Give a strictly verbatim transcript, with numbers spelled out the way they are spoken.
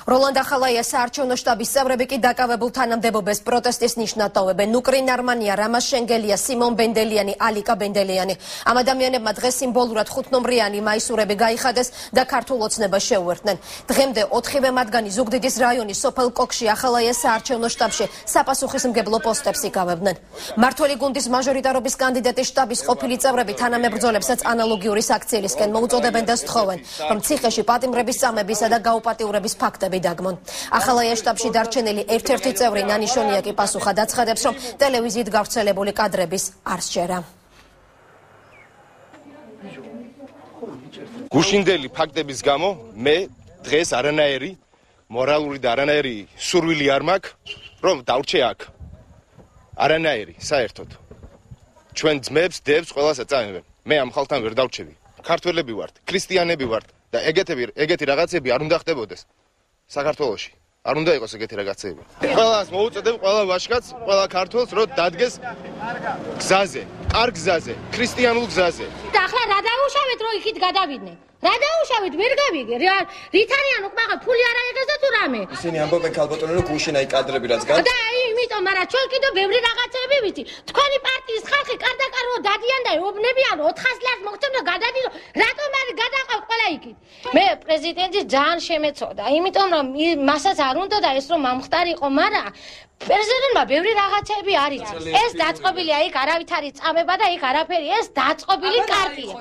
როლანდ ახალაიას საარჩევნო შტაბის წევრები კი დაკავებულ თანამდებობებს პროტესტის ნიშნად ტოვებენ. ნუკრინ არმანია, რამაზ შენგელია, სიმონ ბენდელიანი, ალიკა ბენდელიანი. ამ ადამიანებმა დღეს სიმბოლურად ხუთნომრიანი მაისურები გაიხადეს და ქართულ ოცნებას შეუერთდნენ. დღემდე ოთხივე მათგანი ზუგდიდის რაიონის სოფელ კოქში ახალაიას საარჩევნო შტაბში საპასუხისმგებლო პოსტებს იკავებდნენ. მართველი გუნდის მაჟორიტარობის კანდიდატის შტაბის ყოფილი წევრები თანამებრძოლებსაც ანალოგიური საქციელისკენ მოუწოდებენ და სთხოვენ, რომ ციხეში პატიმრების წამებისა და გაუპატიურების ფაქტები დაგმონ. ახალაიას შტაბში დარჩენილი ერთ-ერთი წევრი ნანიშონია კი პასუხად აცხადებს, რომ ტელევიზიით გავრცელებული კადრების არ სჯერა. გუშინდელი ფაქტების გამო მე დღეს არანაირი მორალური და არანაირი სურვილი არ მაქვს, რომ დავრჩე აქ. არანაირი, საერთოდ. ჩვენ ძმებს, დებს ყველას ეწამებენ. მე ამ ხალხთან ვერ დავრჩები. ქართველები ვართ, ქრისტიანები ვართ და ეგეთები ეგეთი რაღაცები არ უნდა ხდებოდეს. საქართველოში არ უნდა იყოს ეგეთი რაღაცები. ყველას მოუწოდებ, ყველა ვაჟკაცს, ყველა ქართველს, რომ დადგეს გზაზე, კარგ გზაზე, ქრისტიანულ გზაზე. და ახლა რა დაუშავეთ, რომ იქით გადავიდნენ? რა დაუშავეთ, ვერ გავიგე. რით არიან უკმაღალ ფული არ აიღეს და თუ რამე. ისინი ამბობენ ქალბატონო, რომ გუშინ აი კადრები რაც გან. და იმიტომ, მაგრამ ჩვენ კიდევ ბევრი რაღაცები ვიცი. თქვენი პარტიის ხალხი კარდაკარვო დადიან და ეუბნებიან ოთხას ლარს მოგცემ და გადადიდო. რატომ არ გადაყავ ყველა იქით? მე პრეზიდენტის ძალიან შემეცოდა, იმიტომ რომ მასაც არ უნდა და ეს რომ მომხდარიყო, მაგრამ პრეზიდენტმა ბევრი რაღაცები არ იცის. ეს დაწყობილია იქ არავით არის წამება და იქ არაფერი, ეს დაწყობილი კარტია.